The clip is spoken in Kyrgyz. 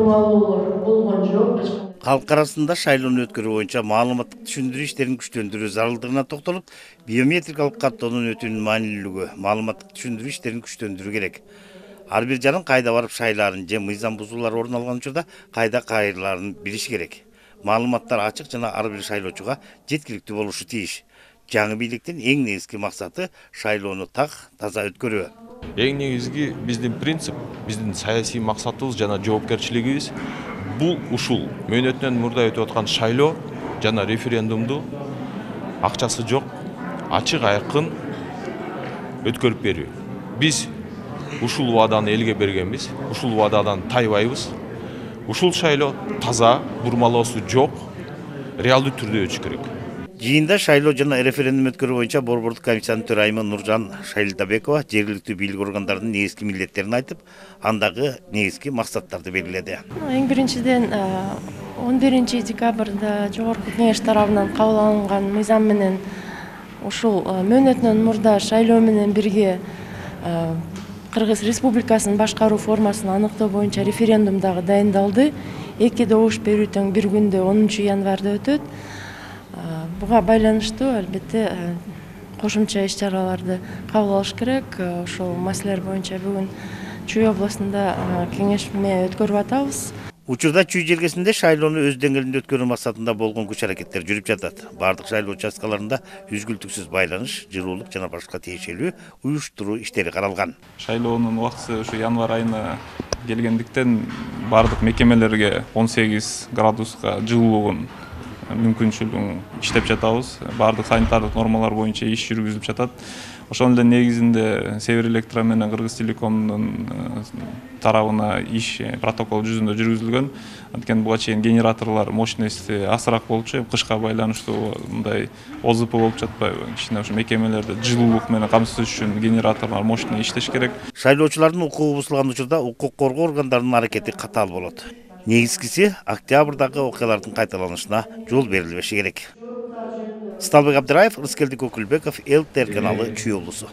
бурмалоолор болгон жок. Халк арасында шайлоону өткөрүү боюнча маалыматтык түшүндүрүү иштерин күчтөндүрүү зарылдыгына токтолуп, биометрикалык каттоонун өтүүнүн маанилүүлүгү, маалыматтык түшүндүрүү иштерин күчтөндүрүү керек. Ар бир жаран кайда барып шайлаарын же мыйзам бузуулар орун алган учурда кайда кайрылаарын билиши керек. Маалыматтар ачык жана ар бир шайлоочуга жеткиликтүү болушу тийиш. Жаңы бийликтин эң негизги максаты шайлоону так, таза өткөрүү. Эң негизги биздин принцип, биздин саясий максатыбыз жана жоопкерчилигибиз бул ушул мөөнөтүнөн мурда өтүп аткан шайлоо жана референдумду акчасы жок, ачык айкын өткөрүп берүү. Биз ушул убаданы элге бергенбиз, ушул убададан тайбайбыз. Ушул шайлоо таза, бурмалоосу жок, реалдуу түрдө өтүш керек. Жыйында шайлоо жана референдум өткөрүү боюнча Борбордук комиссиянын төрайымы Нуржан Шайлдабекова жергиликтүү бийлик органдарынын негизги милдеттерин айтып, андагы негизги максаттарды белгиледи. Эң биринчиден 11 декабрда Жогорку Кеңеш тарабынан кабыл алынган мыйзам менен ушул мөөнөтүнөн мурда шайлоо менен бирге Кыргыз Республикасынын башкаруу формасын аныктоо боюнча референдум дагы дайындалды. 2 добуш берүү тең бир күндө 10 январда өтөт. Буга байланыштуу албетте кошумча иш-чараларды кабыл алыш керек. Ошол маселелер боюнча бүгүн Чүй областында кеңешме өткөрүп атабыз. Учурда Чүй жергесинде шайлоону өз деңгээлинде өткөрүү максатында болгон күч-аракеттер жүрүп жатат. Бардык шайлоо участкаларында үзгүлтүксүз байланыш, жылуулук жана башка тиешелүү уюштуруу иштери каралган. Шайлоонун убактысы ушу январь айына келгендиктен бардык мекемелерге 18 градуска жылуулугун мүмкүнчүлүгүн иштеп жатабыз. Бардык санитардык нормалар боюнча иш жүргүзүлүп жатат. Ошонун эле негизинде Север Электро менен Кыргыз Телекомдун тарабына иш протокол жүзүндө жүргүзүлгөн. Анткени буга чейин генераторлор мощности азыраак болчу, кышка байланыштуу мындай ОЗП болуп жатпайбы? Кичине ошо мекемелерде жылуулук менен камсыз үчүн генераторлор мощный иштеш керек. Шайлоочулардын укугу бузулган учурда укук коргоо органдарынын аракети катаал болот. Негизгиси октябрдагы окуялардын кайталанышына жол берилбеши керек. Сталбек Абдыраев, Рыскелдик Окулбеков, ЛТР каналы, Чүй облусу.